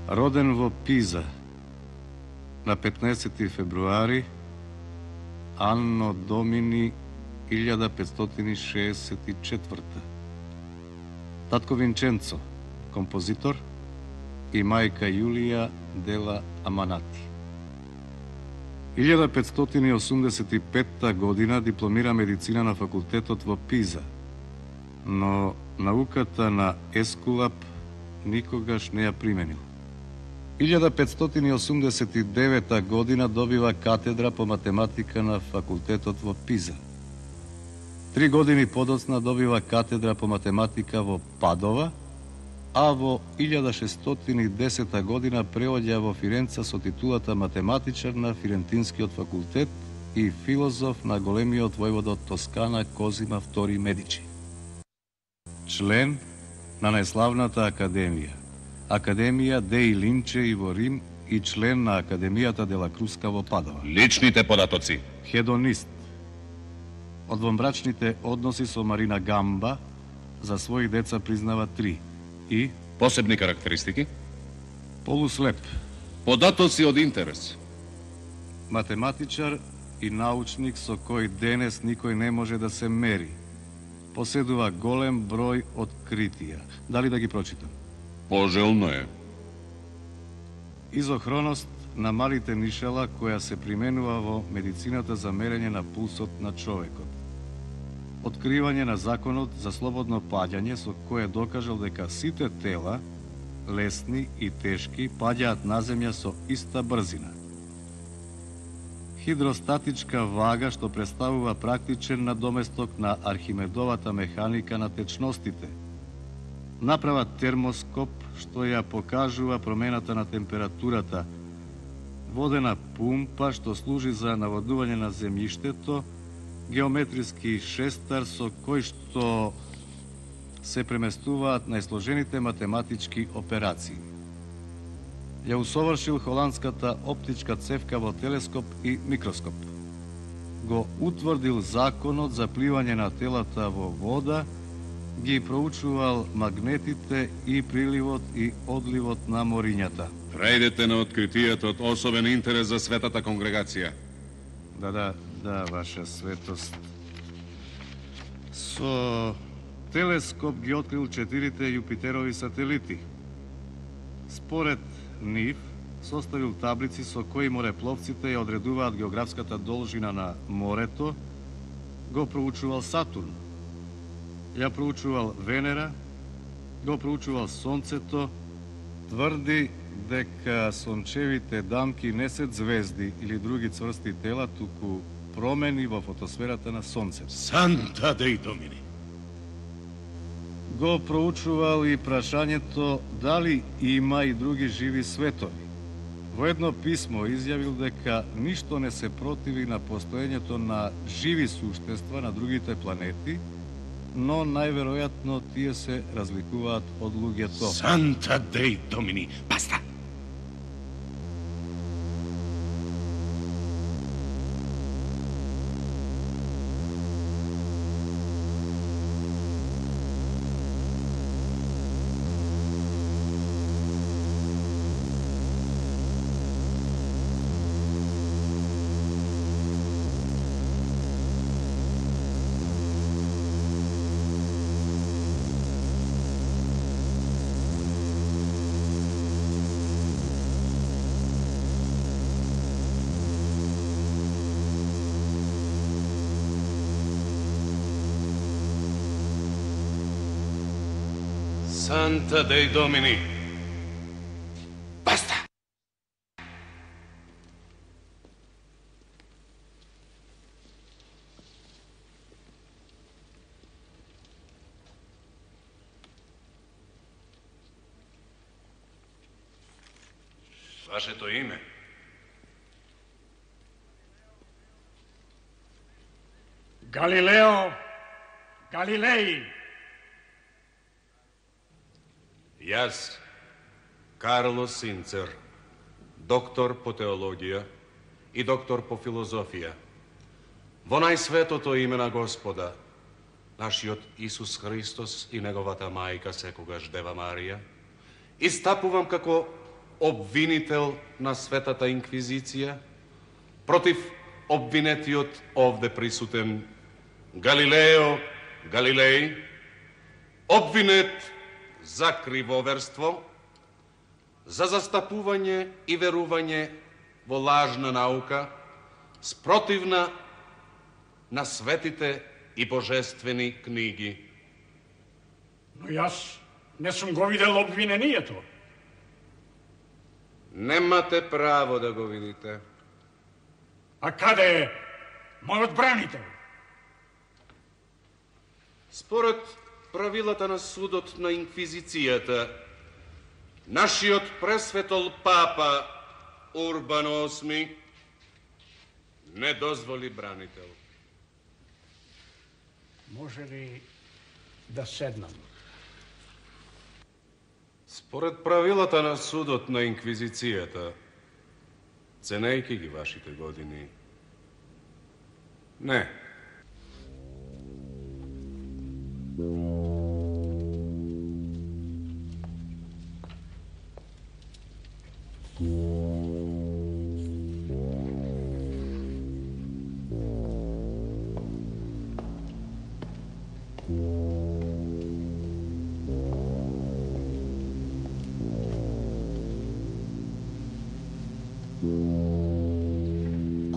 Роден во Пиза на 15 февруари Анно Домини 1564. Татко Винченцо, композитор, и мајка Јулија дела Аманати. 1585 година дипломира медицина на факултетот во Пиза, но науката на Ескулап никогаш не ја применил. 1589 година добива катедра по математика на факултетот во Пиза. 3 години подоцна добива катедра по математика во Падова, а во 1610 година преоѓа во Фиренца со титулата математичар на Фирентинскиот факултет и филозоф на големиот војвода од Тоскана Козима II Медичи. Член на најславната академија, Академија Деи Линчеи во Рим и член на Академијата Дела Круска во Падова. Личните податоци. Хедонист. Од вонбрачните односи со Марина Гамба за своји деца признава 3 и посебни карактеристики. Полуслеп. Податоци од интерес. Математичар и научник со кој денес никој не може да се мери. Поседува голем број откритија. Дали да ги прочитам? Пожелно е. Изохроност на малите нишела која се применува во медицината за мерење на пулсот на човекот. Откривање на законот за слободно паѓање со кое докажал дека сите тела, лесни и тешки, паѓаат на земја со иста брзина. Хидростатичка вага што представува практичен надоместок на Архимедовата механика на течностите. Направа термоскоп што ја покажува промената на температурата. Водена пумпа што служи за наводување на земјиштето, геометриски шестар со кој што се преместуваат најсложените математички операции. Ја усовршил холандската оптичка цевка во телескоп и микроскоп. Го утврдил законот за пливање на телата во вода, ги проучувал магнетите и приливот и одливот на морињата. Рајдете на откритијата од особен интерес за светата конгрегација. Да, ваша светост. Со телескоп ги открил 4 Јупитерови сателити. Според нив, составил таблици со кои морепловците ја одредуваат географската должина на морето, го проучувал Сатурн, ја проучувал Венера, го проучувал Сонцето, тврди дека сончевите дамки не се звезди или други цврсти тела, туку промени во фотосферата на Сонцето. Санта Дей Домини. Го проучувал и прашањето дали има и други живи светови. Во едно писмо изјавил дека ништо не се противи на постоењето на живи суштества на другите планети, но најверојатно тие се разликуваат од луѓето. Санта Дей Домини. Баста! Санта Дей Домини. Баста! Вашето име? Галилео Галилеи. Јас, Карло Синцер, доктор по теологија и доктор по филозофија, во најсветото име на Господа, нашиот Исус Христос и неговата мајка секогаш Дева Марија, истапувам како обвинител на Светата Инквизиција, против обвинетиот овде присутен Галилео Галилеј, обвинет за кривоверство, за застапување и верување во лажна наука, спротивна на светите и божествени книги. Но јас не сум го видел обвинението. Немате право да го видите. А каде е мојот бранител? Според правилата на судот на Инквизицијата, нашиот пресветол папа Урбан VIII не дозволи бранител. Може ли да седнам? Според правилата на судот на Инквизицијата, ценејќи ги вашите години, не.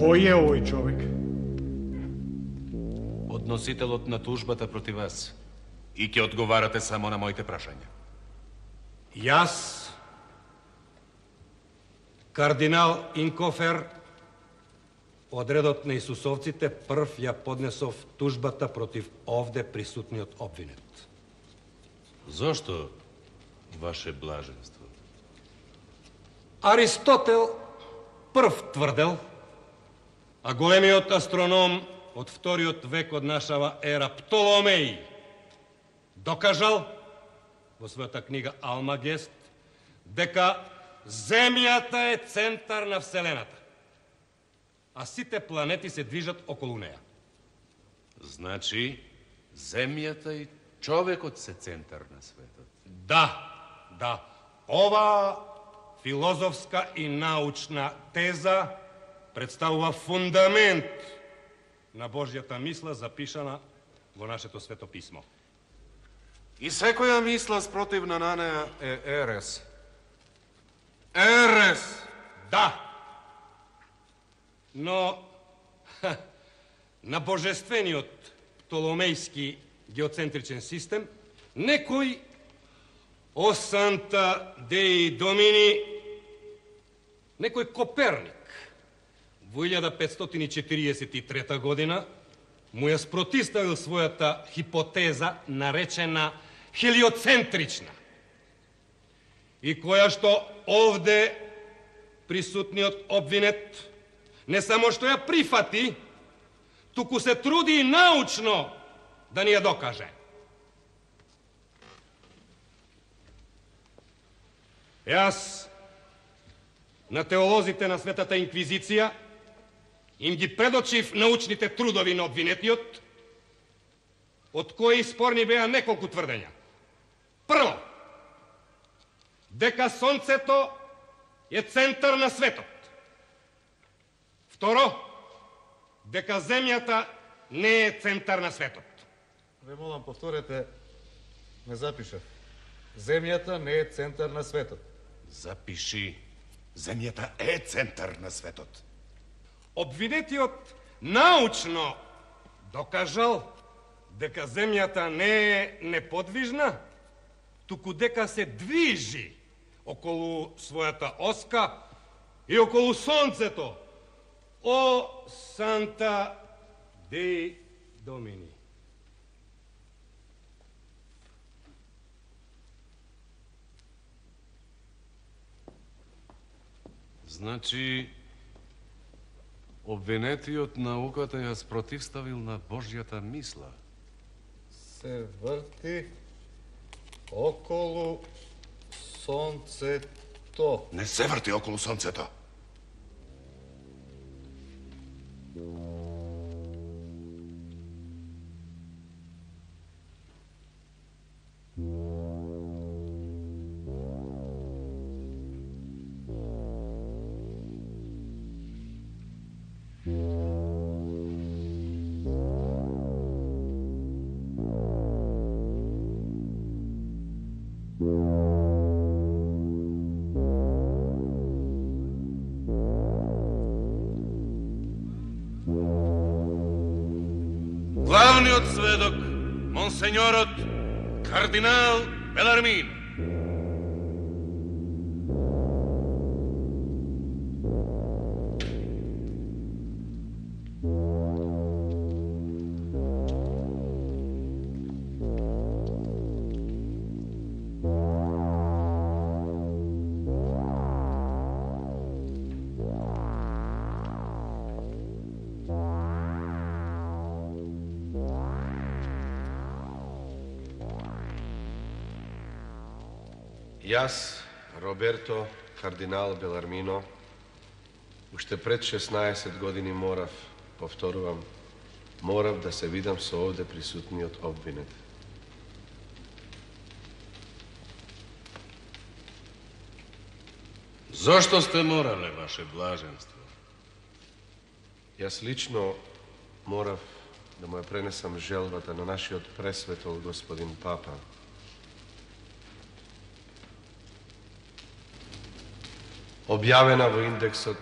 Кој е овој човек? Подносителот на тужбата против вас. И ќе одговарате само на моите прашања. Јас, кардинал Инкофер, од редот на Исусовците, прв ја поднесов тужбата против овде присутниот обвинет. Зошто, ваше блаженство? Аристотел прв тврдел, а големиот астроном од вториот век од нашава ера Птоломеј докажал во својата книга Алмагест дека Земјата е центар на Вселената, а сите планети се движат околу неа. Значи, Земјата и човекот се центар на светот. Да. Ова филозофска и научна теза представува фундамент на Божјата мисла запишана во нашето свето писмо. И секоја мисла спротивна на неа е ерес. Ерес! Да. Но на божествениот Птоломејски геоцентричен систем некој о Санта Деи Домини, некој Коперник во 1543 година му ја спротиставил својата хипотеза наречена хелиоцентрична, и која што овде присутниот обвинет не само што ја прифати, туку се труди и научно да ни ја докаже. Јас на теолозите на Светата Инквизиција им ги предочив научните трудови на обвинетиот, од кои спорни беа неколку тврдења. Прво, дека Сонцето е центар на светот. Второ, дека Земјата не е центар на светот. Ве молам, повторете, не запишав. Земјата не е центар на светот. Запиши. Земјата е центар на светот. Обвинетиот научно докажал дека Земјата не е неподвижна, туку дека се движи околу својата оска и околу Сонцето. О Санта Деи Домини. Значи, обвинетиот науката ја спротивставил на Божјата мисла. Се врти околу Сонцето. Не се врти околу Сонцето. сеньорот кардинал Белармино. Јас, Роберто кардинал Белармино, уште пред 16 години повторувам, морав да се видам со овде присутниот обвинет. Зошто сте морале, ваше блаженство? Јас лично морав да му ја пренесам желбата на нашиот пресветол господин Папа. Објавена во индексот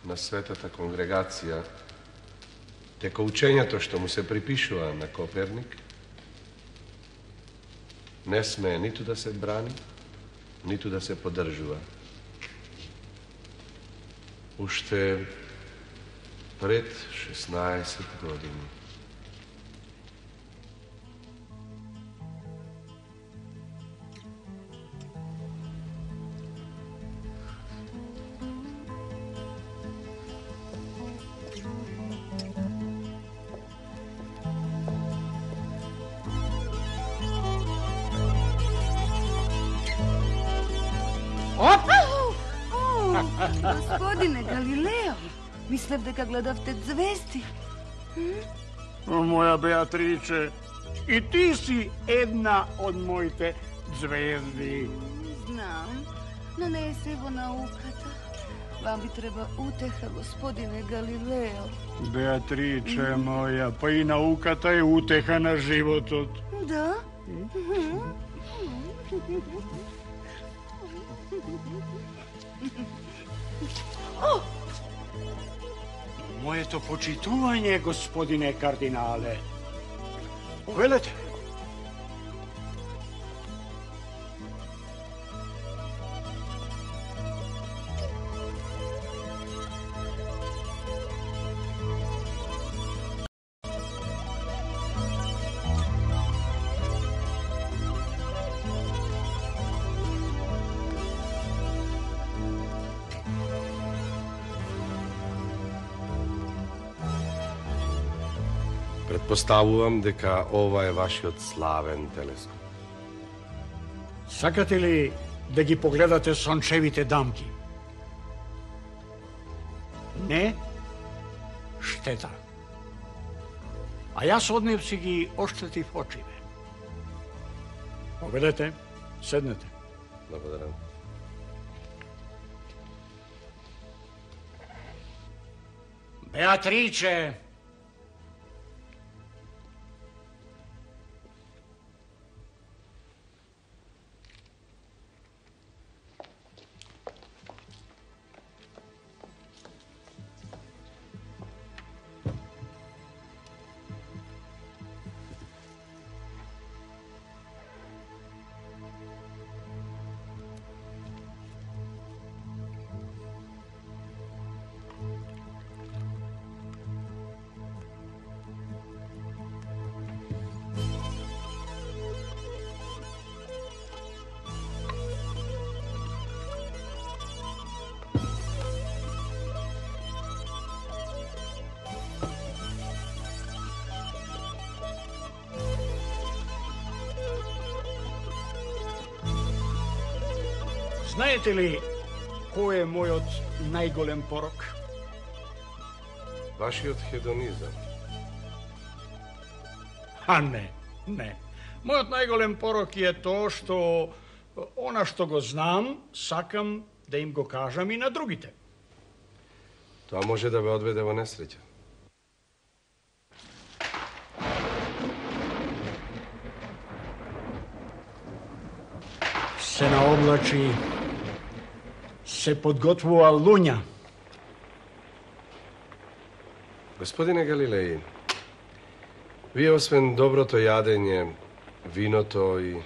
на Светата конгрегација, дека учењето што му се припишува на Коперник не смее ниту да се брани, ниту да се поддржува. Уште пред 16 години. Господине Галилео, мислев дека гледавте звезди. Моја Беатриче, и ти си една од моите звезди. Знам, но не е се во науката. Вам би треба утеха, господине Галилео. Беатриче моја, па и науката е утеха на животот. Да? Моето почитување, господине кардинале. Повелете. Предпоставувам дека ова е вашиот славен телескоп. Сакате ли да ги погледате сончевите дамки? Не? Штета. А јас од нив си ги оштетив очите. Поведете, седнете. Благодарам. Беатриче! Знаете ли кој е мојот најголем порок? Вашиот хедонизам. А не. Мојот најголем порок е тоа што она што го знам, сакам да им го кажам и на другите. Тоа може да ве одведе во несреќа. Се наоблачи, се подготвува луња. Господине Галилеи, Вие освен доброто јадење, виното и...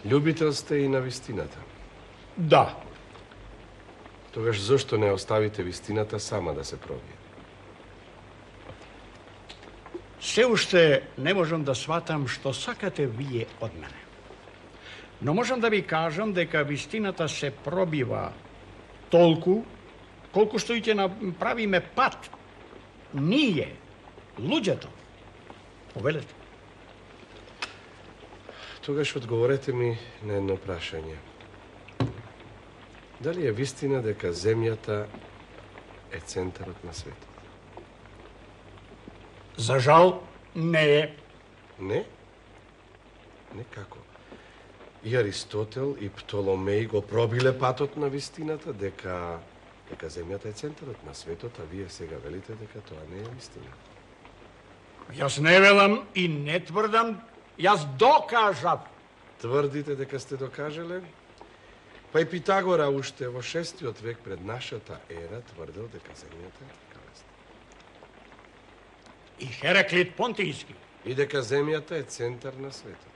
Љубител сте и на вистината. Да. Тогаш зошто не оставите вистината сама да се пробие? Се уште не можам да сватам што сакате вие од мене. Но можам да ви кажам дека вистината се пробива толку колку што и ќе направиме пат. Ние, луѓето. Повелете. Тогаш одговорете ми на едно прашање. Дали е вистина дека земјата е центарот на светот? За жал, не е. Не? Не како? И Аристотел и Птоломеј го пробиле патот на вистината дека земјата е центарот на светот, а вие сега велите дека тоа не е вистина. Јас не велам и не тврдам, јас докажав. Тврдите дека сте докажале? Па и Питагора уште во 6 век пред нашата ера тврдел дека земјата е тркалеста. И Хераклит Понтијски. И дека земјата е центар на светот.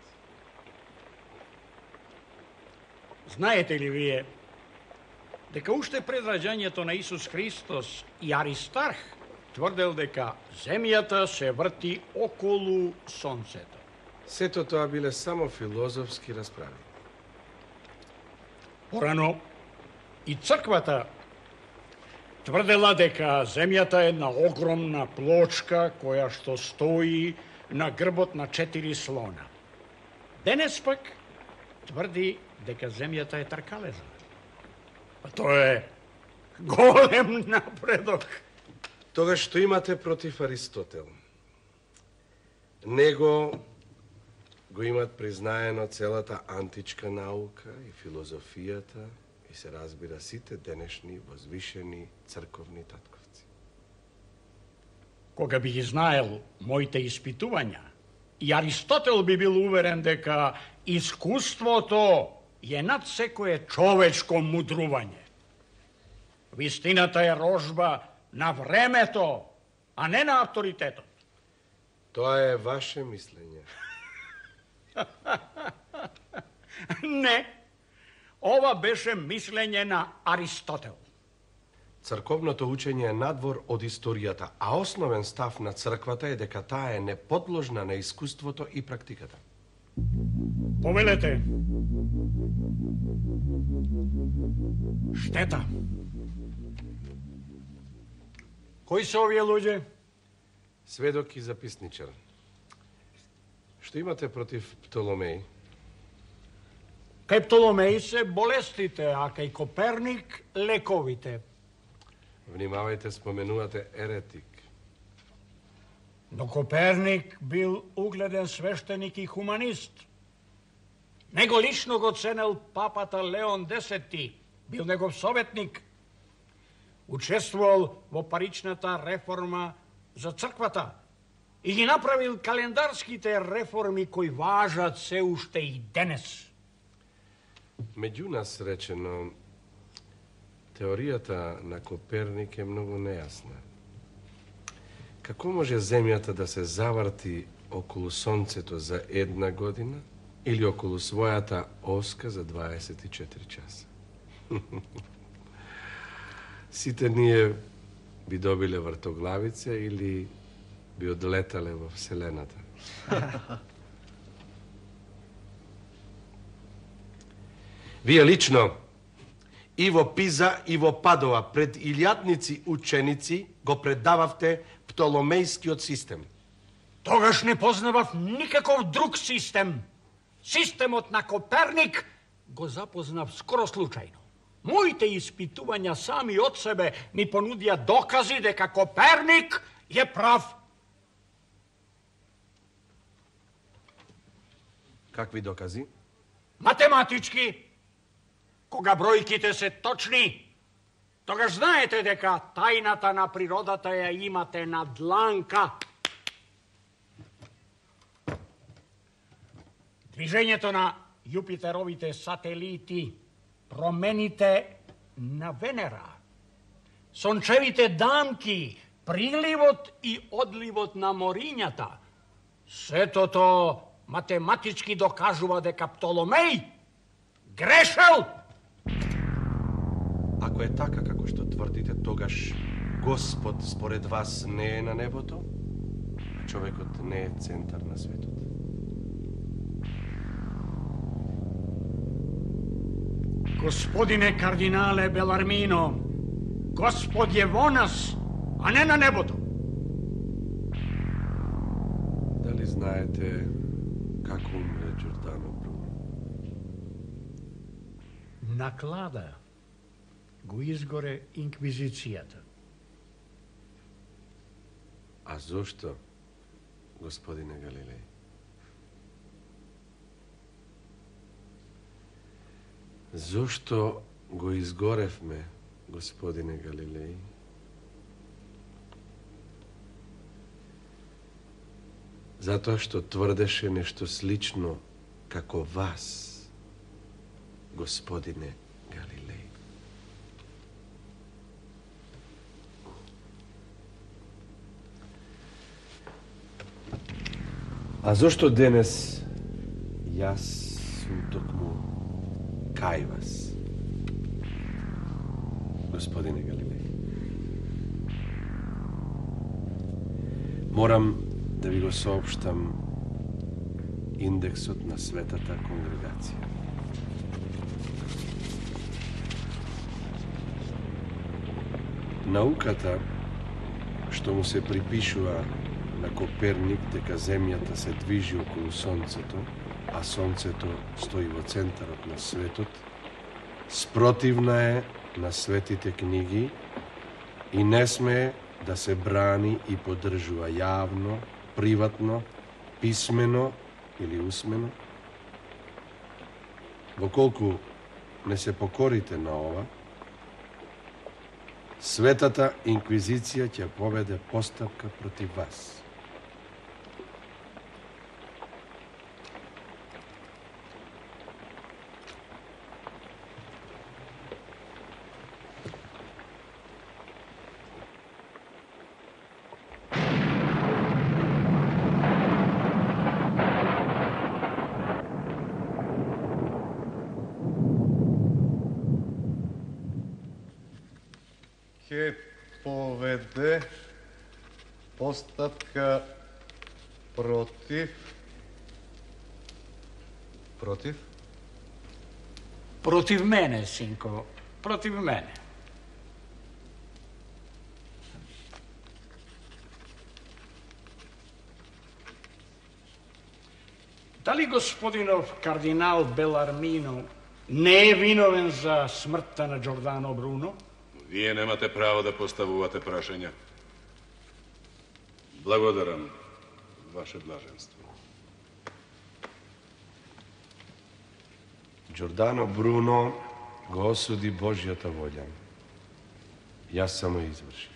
Знаете ли вие дека уште пред раѓањето на Исус Христос и Аристарх тврдел дека земјата се врти околу сонцето? Сето тоа биле само филозофски расправи. Порано и црквата тврдела дека земјата е една огромна плочка која што стои на грбот на 4 слона. Денес пак тврди дека земјата е тркалеза. А тоа е голем напредок. Тогаш што имате против Аристотел? Него го имат признаено целата античка наука и филозофијата и се разбира сите денешни возвишени црковни татковци. Кога би ги знаел моите испитувања, и Аристотел би бил уверен дека искуството е над секое човечко мудрување. Вистината е рожба на времето, а не на авторитетот. Тоа е ваше мислење. Не, ова беше мислење на Аристотел. Црковното учење е надвор од историјата, а основен став на црквата е дека таа е неподложна на искуството и практиката. Повелете. Штета. Кои се овие луѓе? Сведок и записничар. Што имате против Птоломеј? Кај Птоломеј се болестите, а кај Коперник лековите. Внимавајте, споменувате еретик. Но Коперник бил угледен свештеник и хуманист. Него лично го ценел папата Леон X, бил негов советник. Учествувал во паричната реформа за црквата и ги направил календарските реформи кои важат се уште и денес. Меѓу нас речено, теоријата на Коперник е многу нејасна. Како може земјата да се заврти околу сонцето за 1 година или околу својата оска за 24 часа? Сите ние би добиле вртоглавица или би одлетале во Вселената. Вие лично и во Пиза и во Падова пред илјадници ученици го предававте Птоломејскиот систем. Тогаш не познавав никаков друг систем. Системот на Коперник го запознав скоро случајно. Моите испитувања сами од себе ми понудија докази дека Коперник е прав. Какви докази? Математички. Кога бројките се точни, тогаш знаете дека тајната на природата ја имате на дланка. Движењето на Јупитеровите сателити, промените на Венера, сончевите дамки, приливот и одливот на морињата. Сето тоа математички докажува дека Птоломеј грешел. Ако е така како што тврдите, тогаш Господ според вас не е на небото, а човекот не е центар на светот. Господине кардинале Белармино, Господ е во нас, а не на небото. Дали знаете како умре Џордано Бруно? На клада го изгоре инквизицијата. А зошто, господине Галилеј? Зошто го изгоревме, господине Галилеј? Затоа што тврдеше нешто слично како вас, господине Галилеј. А зошто денес јас сум токму кај вас, господине Галилеј? Морам да ви го соопштам индексот на Светата конгрегација. Науката што му се припишува на Коперник дека Земјата се движи околу Сонцето, а Сонцето стои во центарот на светот, спротивна е на светите книги и не смее да се брани и поддржува јавно, приватно, писмено или усмено. Воколку не се покорите на ова, Светата инквизиција ќе поведе постапка против вас. Ќе поведе постапка против Против мене, синко, против мене. Дали господинов кардинал Белармино не е виновен за смртта на Џордано Бруно? Вие немате право да поставувате прашања. Благодарам, ваше блаженство. Џордано Бруно го осуди Божјата волја. Јас само извршив.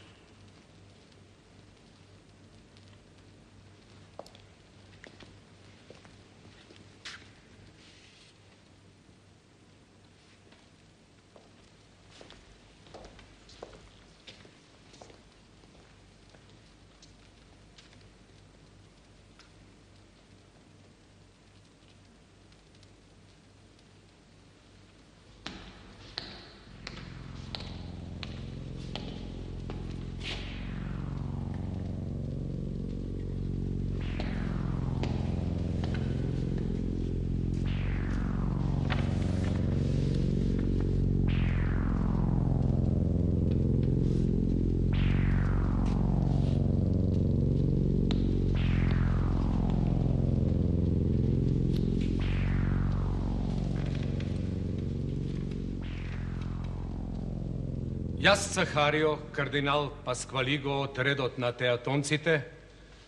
Јас, Цахарио, кардинал Пасквалиго од редот на театонците,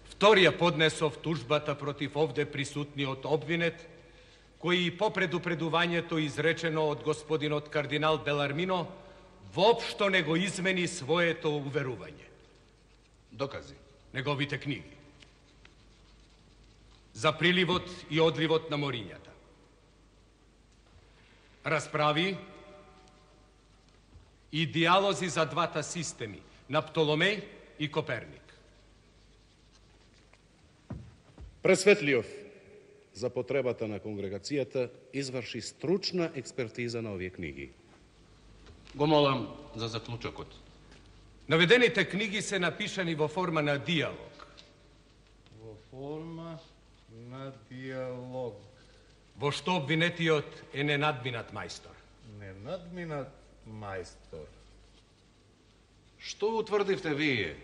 вторија поднесов тужбата против овде присутниот обвинет, кој и по предупредувањето изречено од господинот кардинал Белармино, воопшто не го измени своето уверување. Докази. Неговите книги. За приливот и одливот на морињата. расправи и диалози за двата системи, на Птоломеј и Коперник. Пресветлиов, за потребата на конгрегацијата, изврши стручна експертиза на овие книги. Го молам за заклучокот. Наведените книги се напишани во форма на диалог. Во форма на диалог. Во што обвинетиот е ненадминат мајстор. Ненадминат мајстор. Што утврдивте вие?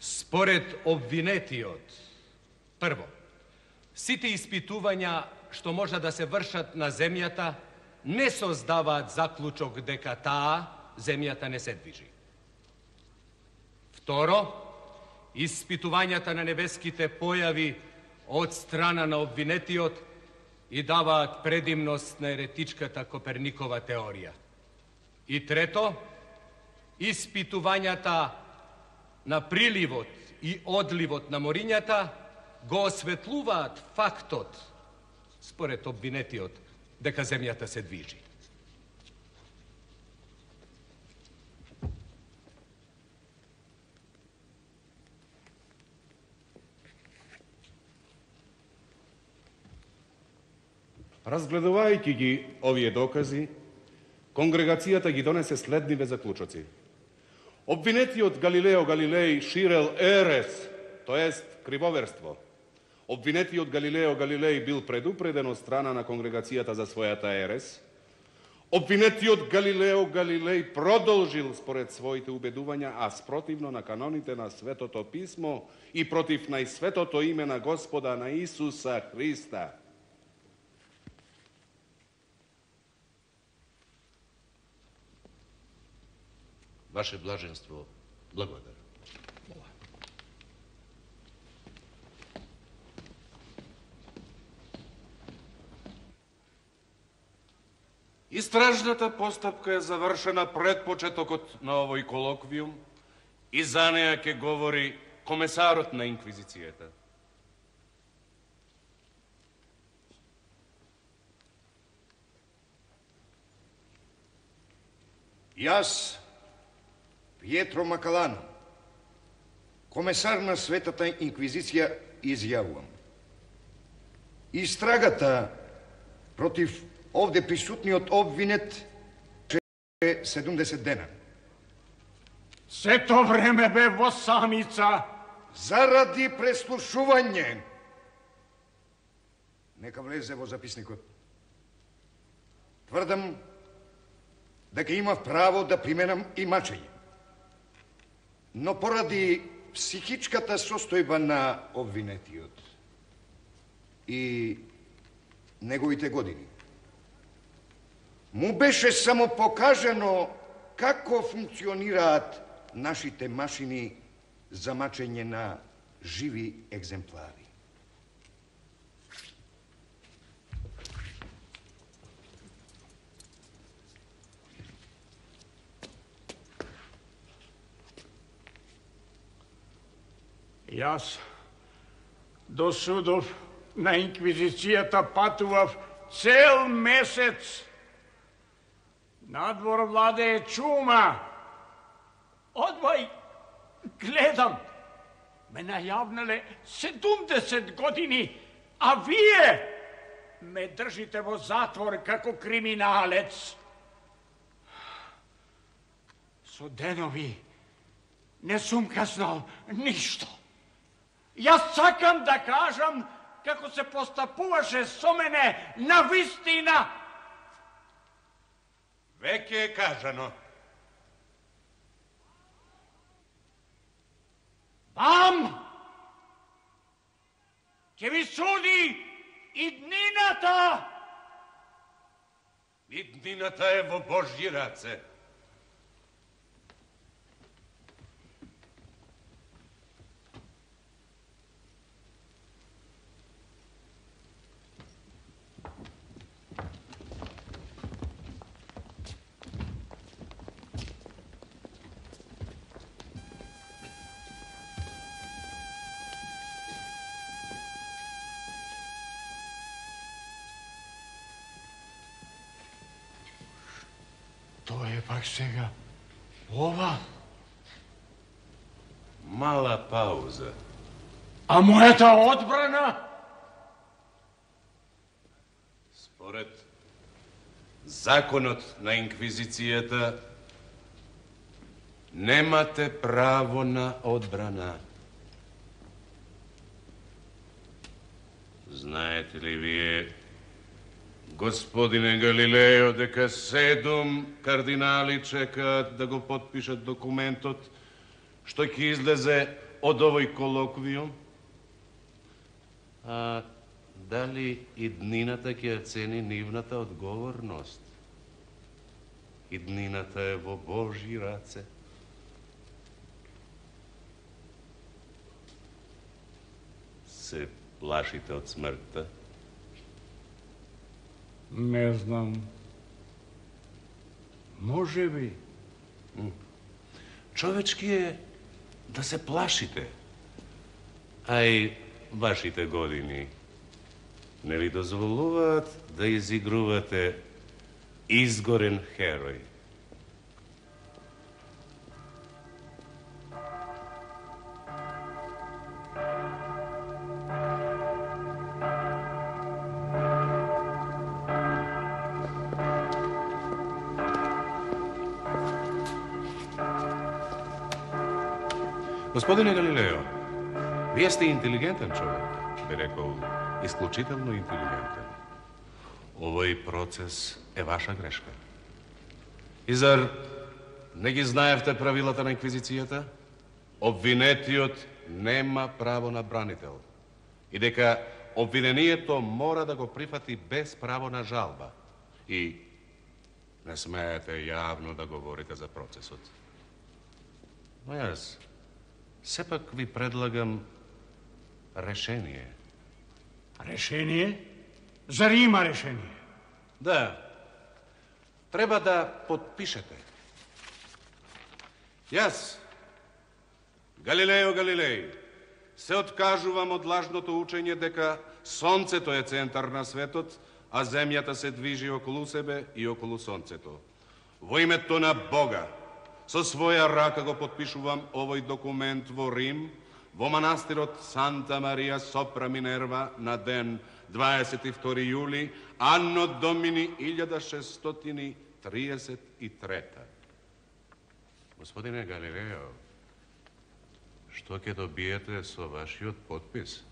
Според обвинетиот, прво, сите испитувања што може да се вршат на земјата не создаваат заклучок дека таа земјата не се движи. Второ, испитувањата на небеските појави од страна на обвинетиот и даваат предимност на еретичката Коперникова теорија. И трето, испитувањата на приливот и одливот на морињата го осветлуваат фактот, според обвинетиот, дека земјата се движи. Разгледувајќи ги овие докази, конгрегацијата ги донесе следниве заклучоци. Обвинетиот Галилео Галилеј ширел ерес, то ест кривоверство. Обвинетиот Галилео Галилеј бил предупреден од страна на конгрегацијата за својата ерес. Обвинетиот Галилео Галилеј продолжил според своите убедувања, а спротивно на каноните на Светото Писмо и против најсветото име на Господа на Исуса Христа. Ваше блаженство, благодарам. Истражната постапка е завршена пред почетокот на овој колоквиум и за неја ќе говори комесарот на Инквизицијата. Јас, Пиетро Макалано, комесар на Светата Инквизиција, изјавувам. Истрагата против овде присутниот обвинет е 70 дена. Сето време бе во самица. Заради преслушување. Нека влезе во записникот. Тврдам дека имав право да применам и мачење. Но поради психичката состојба на обвинетиот и неговите години, му беше само покажано како функционираат нашите машини за мачење на живи екземплари. Јас до судов на Инквизицијата патував цел месец. Надвор владее чума. Одвај гледам. Ме најавнале 70 години, а вие ме држите во затвор како криминалец. Со денови не сум казнал ништо. Јас сакам да кажам како се постапуваше со мене на вистина. Веќе е кажано. Вам ќе ви суди и днината. И днината е во Божји раце. Што е пак сега? Ова? Мала пауза. А мојата одбрана? Според законот на инквизицијата немате право на одбрана. Знаете ли вие, господине Галилео, дека 7 кардинали чекаат да го потпишат документот што ќе излезе од овој колоквиум? А дали иднината ќе ја цени нивната одговорност? Иднината е во Божји раце. Се плашите од смртта? Не знам. Може би. Човечки е да се плашите. А и вашите години не ви дозволуваат да изигрувате изгорен херој. Господине Галилео, вие сте интелигентен човек, би рекол, исклучително интелигентен. Овој процес е ваша грешка. И зар не ги знаевте правилата на инквизицијата? Обвинетиот нема право на бранител. И дека обвинението мора да го прифати без право на жалба. И не смеете јавно да говорите за процесот. Но јас сепак ви предлагам решение. Решение? Зар има решение? Да. Треба да подпишете. Јас, Галилео Галилеј, се откажувам од лажното учење дека Сонцето е центар на светот, а Земјата се движи околу себе и околу Сонцето. Во името на Бога, со своја рака го подпишувам овој документ во Рим, во манастирот Санта Марија Сопра Минерва на ден 22 јули, анно домини 1633. Господине Галилео, што ќе добиете со вашиот подпис?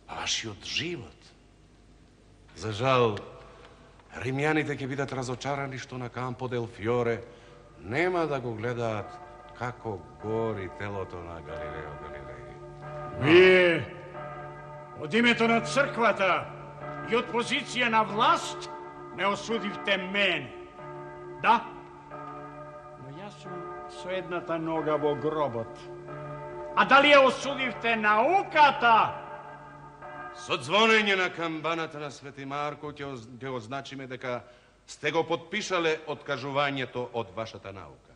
Вашиот живот. За жал, римјаните ќе бидат разочарани што на Кампо дел Фјоре нема да го гледаат како гори телото на Галилео Галилеј. Вие, од името на црквата и од позиција на власт, не осудивте мене. Да, но јас сум со едната нога во гробот. А дали ја осудивте науката? Со звонење на камбаната на Свети Марко ќе означиме дека сте го подпишале откажувањето од вашата наука.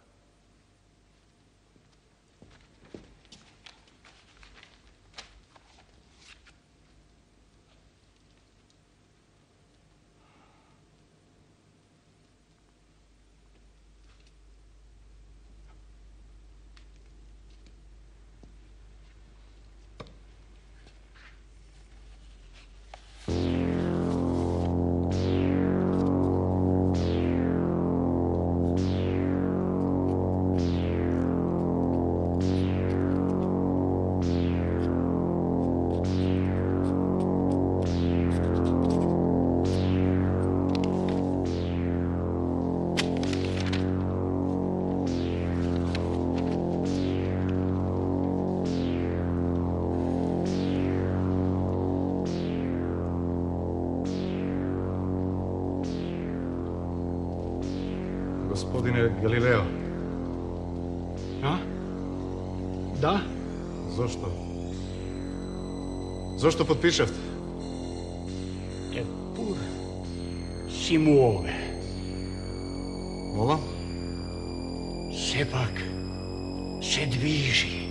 Господине Галилео. А? Да? Зошто? Зошто подпишавте? Епур си муове. Молам? Сепак се движи.